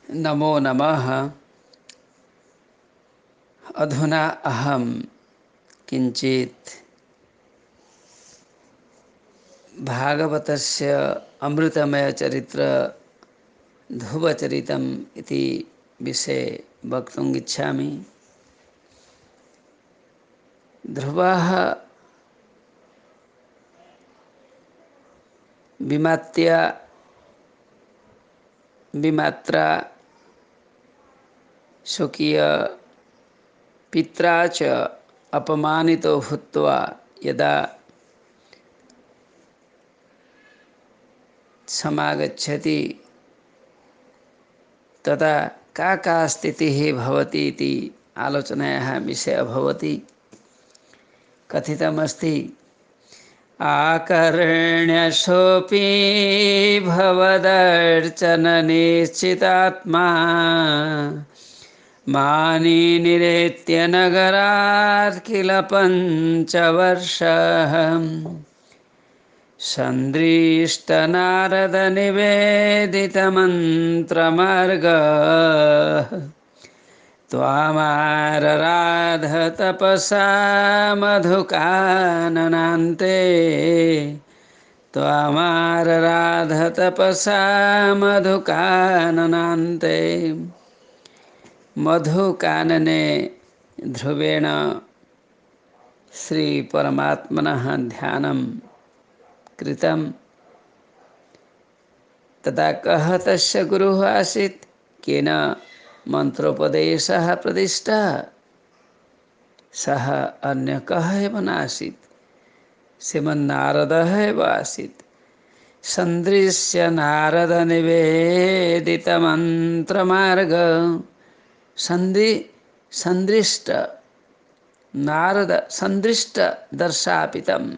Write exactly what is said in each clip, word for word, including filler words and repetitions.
नमो नमः। अधुना अहं किञ्चित् भागवतस्य अमृतमयचरित्र ध्रुवचरितम् इति विषये वक्तुम् इच्छामि। ध्रुवः विमात्या विमात्रा स्वकीय पित्रा च अपमानितो भूत्वा यदा समागच्छति तदा का का स्थितिः भवति इति आलोचनायाः विषयः भवति। कथितमस्ति आकर्ण्यशोऽपि भवदर्चननिश्चितात्मा मानी निरेत्य नगरात् किल पञ्चवर्षः सन्दृष्टनारदनिवेदितमन्त्रमार्गः त्वामारराध तपसा मधुकाननान्ते त्वामारराध तपसा मधुकाननान्ते। मधुकानने ध्रुवेण श्रीपरमात्मनः ध्यानं कृतं। तदा कः तस्य गुरुः आसीत्, केन मन्त्रोपदेशः प्रतिष्ठः, सः अन्य कः एव नासीत्, श्रीमन्नारदः एव आसीत्। सन्दृश्य नारदनिवेदितमन्त्रमार्ग सन्दि सन्दृष्ट नारद सन्दृष्ट दर्शापितं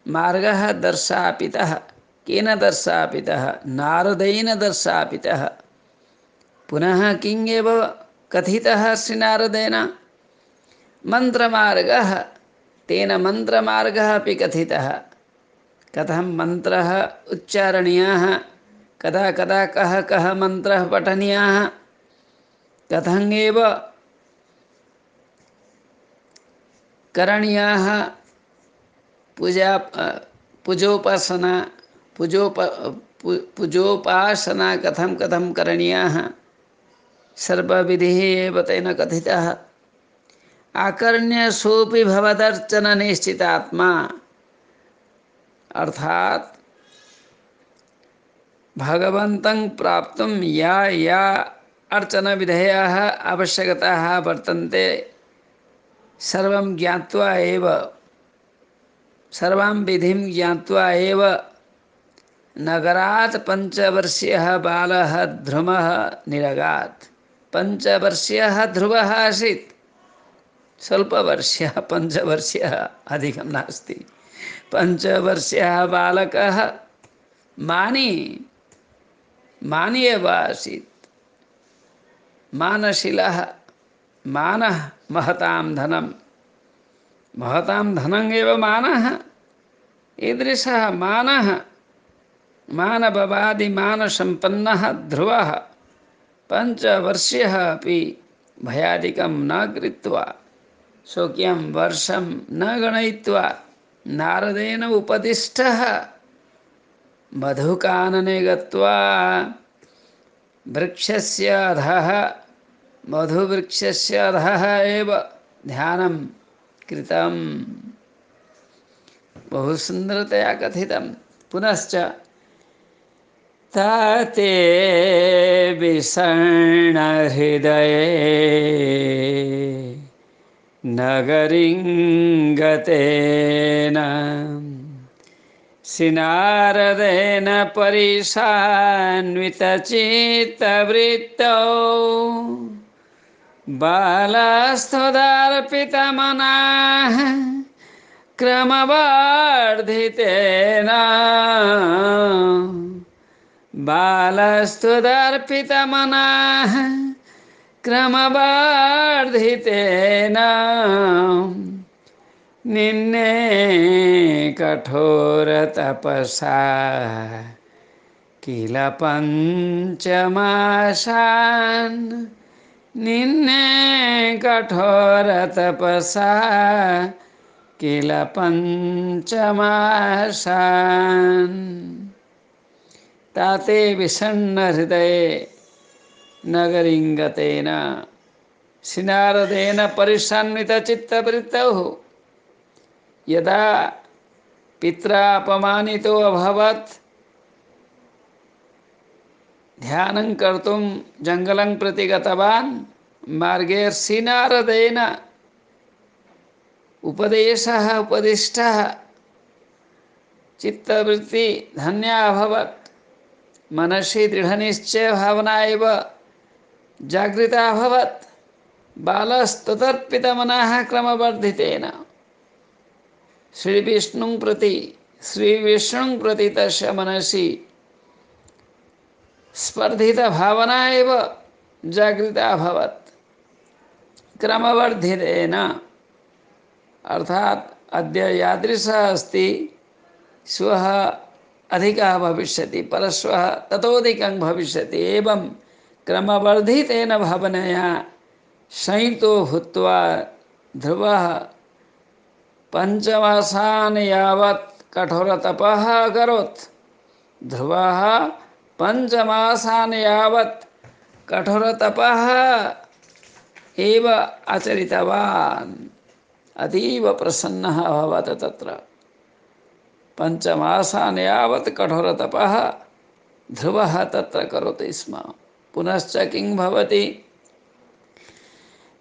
मार्गः दर्शापितः। केन दर्शापितः? नारदेन दर्शापितः। पुनः किं एव कथितः श्रीनारदेन? मन्त्रमार्गः। तेन मन्त्रमार्गः अपि कथितः। कथं मन्त्रः उच्चारणीयः, कदा कदा कः कः मन्त्रः पठनीयः, कथं एव करणीयः, पूजा पूजोपासना पूजोप पूजोपासना कथं कथं करणीयः, सर्वविधिः एव तेन कथितः। आकर्ण्य सोऽपि भवदर्चन निश्चितात्मा, अर्थात भगवन्तं प्राप्तुं या या अर्चनविधयः आवश्यकताः वर्तन्ते सर्वं ज्ञात्वा एव सर्वां विधिं ज्ञात्वा एव नगरात् पञ्चवर्षीयः बालः ध्रुवः निरगात्। पञ्चवर्षीयः ध्रुवः आसीत्, स्वल्पवर्षीयः, पञ्चवर्षीयः अधिकं नास्ति। पञ्चवर्षीयः बालकः मानी मानी एव आसीत्। मानशीलः, मानः महतां धनं, महतां धनम् एव मानः। ईदृशः मानः, मानभवादिमानसम्पन्नः ध्रुवः पञ्चवर्षीयः अपि भयादिकं न कृत्वा, स्वकीयं वर्षं न गणयित्वा नारदेन उपदिष्टः मधुकानने गत्वा वृक्षस्य अधः, मधुवृक्षस्य अधः एव ध्यानं कृतं। बहु सुन्दरतया कथितं। पुनश्च ताते विषण्णहृदये नगरीं गतेन श्रीनारदेन परेशान्वितचित्तवृत्तौ बालस्तदार्पितमनाः क्रमवर्धितेन बालस्तुदर्पितमनाः क्रमवर्धितेन निन्ने कठोरतपसा किल पञ्चमाशान् निन्ने कठोरतपसा किल पञ्चमाशान् ताते विषण्णहृदये नगरिङ्गतेन श्रीनारदेन परिषण्णितचित्तवृत्तौ यदा पित्रा अपमानितो अभवत् ध्यानं कर्तुं जङ्गलं प्रति गतवान् मार्गे श्रीनारदेन उपदेशः उपदिष्टः चित्तवृत्ति धन्या अभवत् मनसि दृढनिश्चय भावना एव जागृता अभवत् बालस्ततर्पितमनः क्रमवर्धितेन श्रीविष्णुं प्रति श्रीविष्णुं प्रति तस्य मनसि स्पर्धितभावना एव जागृता अभवत् क्रमवर्धितेन अर्थात् अद्य यादृशः अस्ति श्वः अधिकः भविष्यति परश्वः ततोधिकं भविष्यति एवं क्रमवर्धितेन भावनया संयुक्तो भूत्वा ध्रुवः पञ्चमासान् यावत् कठोरतपः अकरोत् ध्रुवः पञ्चमासान् यावत् कठोरतपः एव आचरितवान् अतीव प्रसन्नः अभवत् तत्र पञ्चमासान् यावत् कठोरतपः ध्रुवः तत्र करोति स्म पुनश्च किं भवति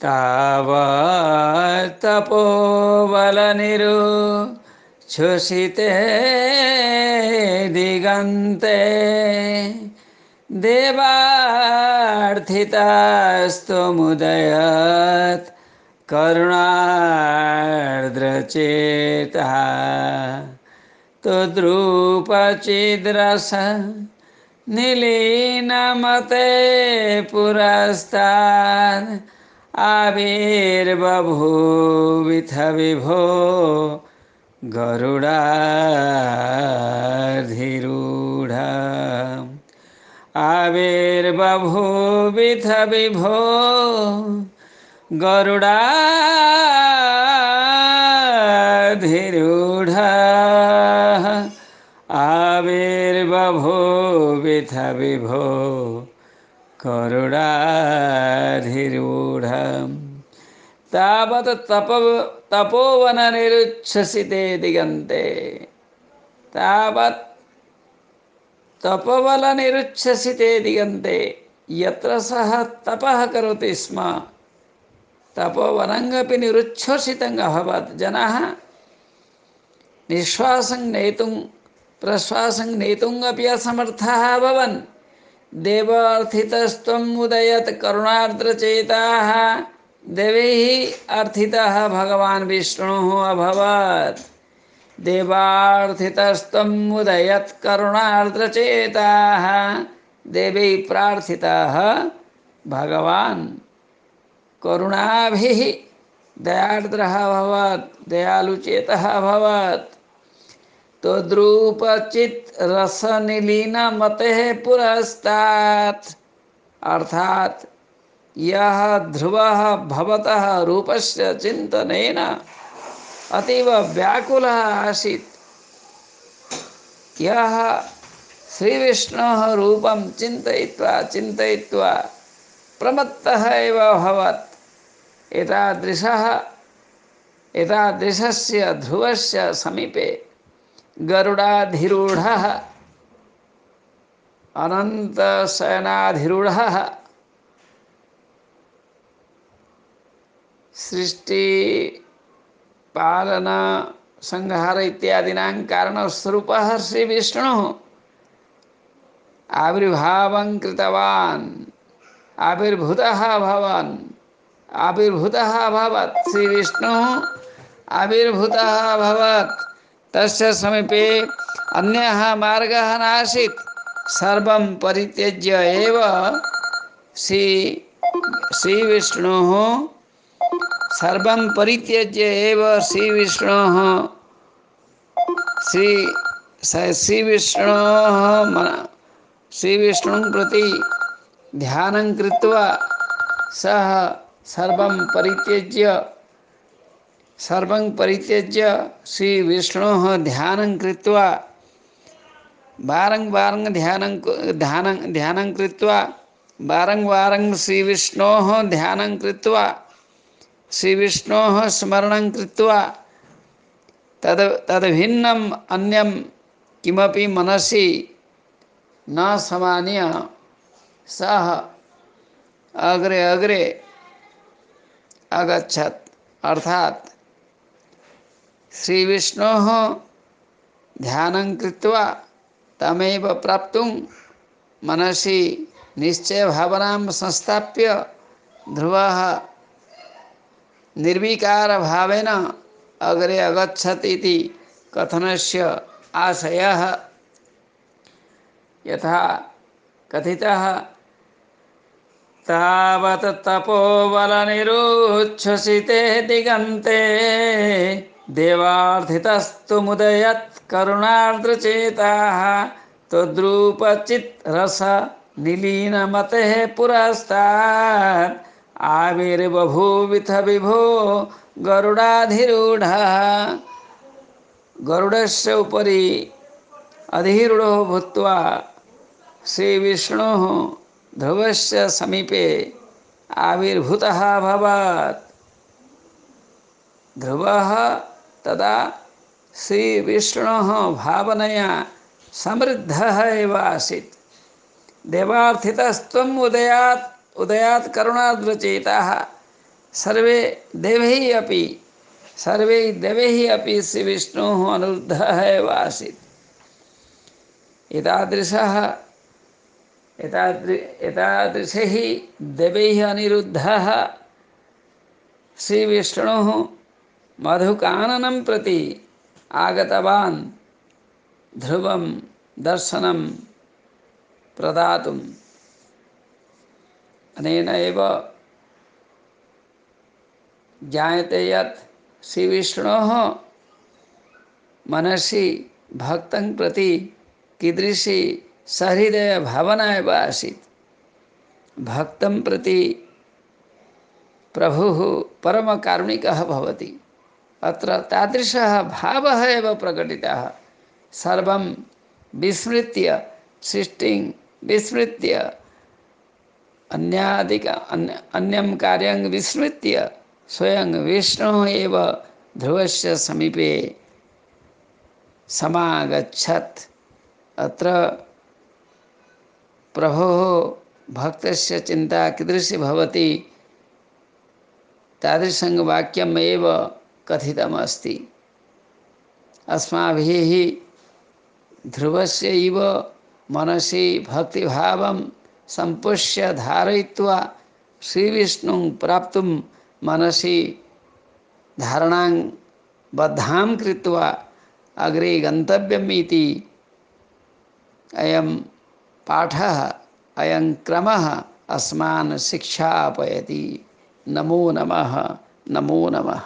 तावत् तपोबलनिरुच्छ्वसिते दिगन्ते देवार्थितास्तमुदयत् करुणार्द्रचेतः तुद्रूपचिद्रस निलीनमते पुरस्ताद् आविर्बभूविथ विभो गरुडाधिरूढ आविर्बभूविथ विभो गरुडाधिरूढ आविर्बभूविथ विभो गरुडाधिरूढ तावत् तपो तपोवननिरुच्छ्वसिते दिगन्ते तावत् तपोवननिरुच्छ्वसिते दिगन्ते यत्र सः तपः करोति स्म तपोवनमपि निरुच्छ्वसितम् अभवत् जनाः निःश्वासं नेतुं प्रश्वासं नेतुम् अपि असमर्थाः अभवन् देवार्थितस्त्वम् उदयत् करुणार्द्रचेताः देवैः अर्थितः भगवान् विष्णुः अभवत् देवार्थितस्त्वम् उदयत् करुणार्द्रचेताः देवैः प्रार्थितः भगवान् करुणाभिः दयार्द्रः अभवत् दयालुचेतः अभवत् तद्रूपचित् रसनिलीनमतेः पुरस्तात् अर्थात् यः ध्रुवः भवतः रूपस्य चिन्तनेन अतीव व्याकुलः आसीत् यः श्रीविष्णोः रूपं चिन्तयित्वा चिन्तयित्वा प्रमत्तः एव अभवत् एतादृशः एतादृशस्य ध्रुवस्य समीपे गरुडाधिरूढः अनन्तशयनाधिरूढः सृष्टि पालन संहार इत्यादीनां कारणस्वरूपः श्रीविष्णुः आविर्भावं कृतवान् आविर्भूतः अभवन् आविर्भूतः अभवत् श्रीविष्णुः आविर्भूतः अभवत् तस्य समीपे अन्यः मार्गः नासीत् सर्वं परित्यज्य एव श्री श्रीविष्णुः सर्वं परित्यज्य एव श्रीविष्णुः श्री श्रीविष्णोः श्रीविष्णुं प्रति ध्यानं कृत्वा सः सर्वं परित्यज्य सर्वं परित्यज्य श्रीविष्णोः ध्यानं कृत्वा वारं वारं ध्यानं ध्यानं ध्यानं कृत्वा वारं वारं श्रीविष्णोः ध्यानं कृत्वा श्रीविष्णोः स्मरणं कृत्वा तद् तद्भिन्नम् अन्यं किमपि मनसि न समान्य सः अग्रे अग्रे अगच्छत्। अर्थात श्रीविष्णोः ध्यानं कृत्वा तमेव प्राप्तुं मनसि निश्चयभावनां संस्थाप्य ध्रुवः निर्विकारभावेन अग्रे अगच्छत् इति कथनस्य आशयः। यथा कथितः तावत् तपोबलनिरुच्छ्वसिते दिगन्ते देवार्थितस्तु मुदयत् करुणार्द्रचेताः तद्रूपचित् रस निलीनमतेः पुरस्तात् आविर्बभूविथ विभो गरुडाधिरूढः। गरुडस्य उपरि अधिरूढो भूत्वा श्रीविष्णुः ध्रुवस्य समीपे आविर्भूतः अभवत्। ध्रुवः तदा श्रीविष्णोः भावनया समृद्धः एव आसीत्। देवार्थितस्त्वम् उदयात् उदयात् करुणार्द्रचेताः सर्वे देवैः अपि सर्वे देवैः अपि श्रीविष्णुः अनुरुद्धः एव आसीत्। एतादृशः एतादृ एतादृशैः देवैः अनिरुद्धः श्रीविष्णुः मधुकाननं प्रति आगतवान् ध्रुवं दर्शनं प्रदातुम्। अनेन एव ज्ञायते यत् श्रीविष्णोः मनसि भक्तं प्रति कीदृशी सहृदयभावना एव आसीत्। भक्तं प्रति प्रभुः परमकारुणिकः भवति। अत्र तादृशः भावः एव प्रकटितः। सर्वं विस्मृत्य सृष्टिं विस्मृत्य अन्यादिक अन्य अन्यं कार्यं विस्मृत्य स्वयं विष्णुः एव ध्रुवस्य समीपे समागच्छत्। अत्र प्रभोः भक्तस्य चिन्ता कीदृशी भवति तादृशं वाक्यम् एव कथितमस्ति। अस्माभिः ध्रुवस्य इव मनसि भक्तिभावं सम्पुष्य धारयित्वा श्रीविष्णुं प्राप्तुं मनसि धारणां बद्धां कृत्वा अग्रे गन्तव्यम् इति अयं पाठः अयं क्रमः अस्मान् शिक्षापयति। नमो नमः। नमो नमः।